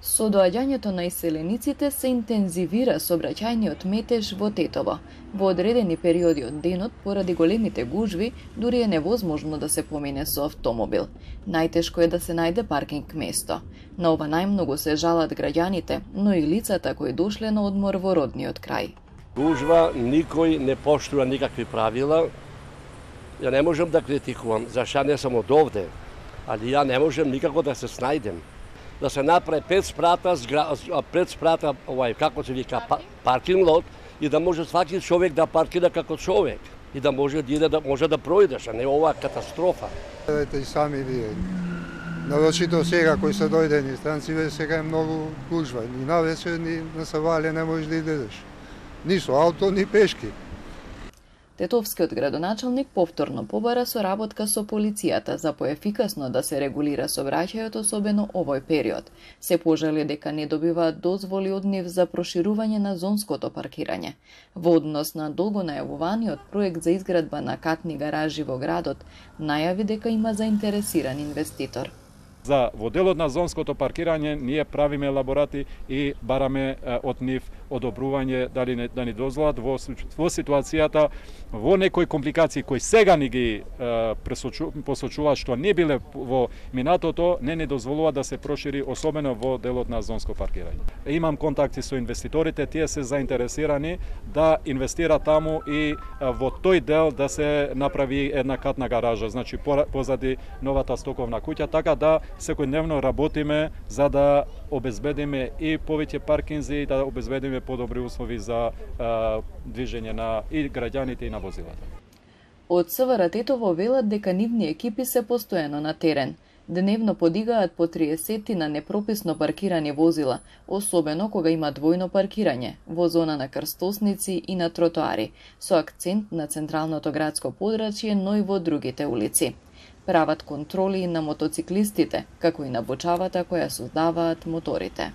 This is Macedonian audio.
Со доаѓањето на иселениците се интензивира сообраќајниот метеж во Тетово. Во одредени периоди од денот, поради големите гужви, дури е невозможно да се помине со автомобил. Најтешко е да се најде паркинг место. На ова најмногу се жалат граѓаните, но и лицата кои дошле на одмор во родниот крај. Гужва, никој не поштува никакви правила. Ја не можам да критикувам, зашто не сум од овде, али ја не можам никако да се снајдем. Да се направи 5 спрата, како се вика, паркинг лот, и да може сваки човек да паркира како човек и да може да може да пројдеш, а не оваа катастрофа. Видете и сами вие. Навечито сега кои се дојдени странци, сега е многу гужва. Ни навече, ни на Савале не можеш да идеш. Ни со ауто, ни пешки. Тетовскиот градоначалник повторно побара соработка со полицијата за поефикасно да се регулира сообраќајот, особено овој период. Се пожали дека не добиваат дозволи од нив за проширување на зонското паркирање. Во однос на долго најавуваниот проект за изградба на катни гаражи во градот, најави дека има заинтересиран инвеститор. За во делот на зонското паркирање ние правиме елаборати и бараме од нив одобрување дали да ни дозволат во ситуацијата во некои компликации кои сега ни ги посочуваат што не биле во минатото, не дозволува да се прошири, особено во делот на зонско паркирање. Имам контакти со инвеститорите, тие се заинтересирани да инвестира таму и во тој дел да се направи една катна гаража, значи позади новата стоковна куќа, така да секојдневно работиме за да обезбедиме и повеќе паркинзи и да обезбедиме подобри услови за движење на и граѓаните и на возилата. Од СВР Тетово велат дека нивни екипи се постојано на терен. Дневно подигаат по 30 на непрописно паркирани возила, особено кога има двојно паркирање во зона на крстосници и на тротоари, со акцент на централното градско подрачје, но и во другите улици. Прават контроли на мотоциклистите, како и на бочавата која создаваат моторите.